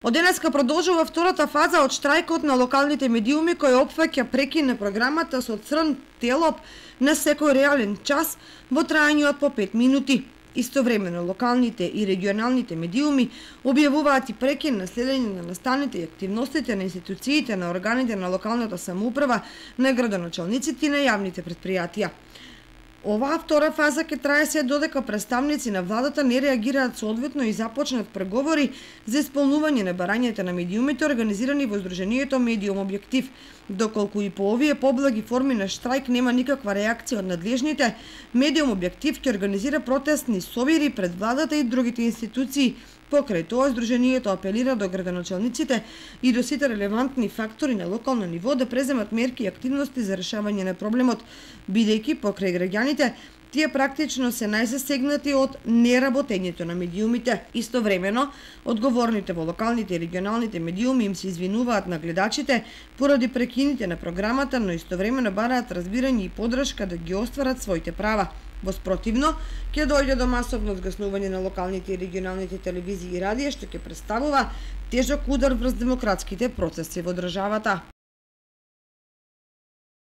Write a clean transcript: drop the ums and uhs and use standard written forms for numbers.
Од денеска продолжува втората фаза од штрајкот на локалните медиуми кој опфаќа прекин на програмата со црн телоп на секој реален час во трајање од по 5 минути. Истовремено локалните и регионалните медиуми објавуваат и прекин на следење на настаните и активностите на институциите на органите на локалната самоуправа, на градоначалниците и на јавните претпријатија. Оваа втора фаза ќе трае се додека представници на владата не реагираат соодветно и започнат преговори за исполнување на барањата на медиумите организирани во Сдруженијето Медиум Објектив. Доколку и по овие поблаги форми на штрајк нема никаква реакција од надлежните, Медиум Објектив ќе организира протестни собири пред владата и другите институции. Покрај тоа, Сдруженијето апелира до градоначалниците и до сите релевантни фактори на локално ниво да преземат мерки и активности за решавање на проблемот, бидејќи покрај граѓаните тие практично се најзасегнати од неработењето на медиумите. Истовремено, одговорните во локалните и регионалните медиуми им се извинуваат на гледачите поради прекините на програмата, но истовремено бараат разбирање и подршка да ги остварат своите права. Во спротивно, ќе дојде до масовно згаснување на локалните и регионалните телевизии и радија, што ќе представува тежок удар врз демократските процеси во државата.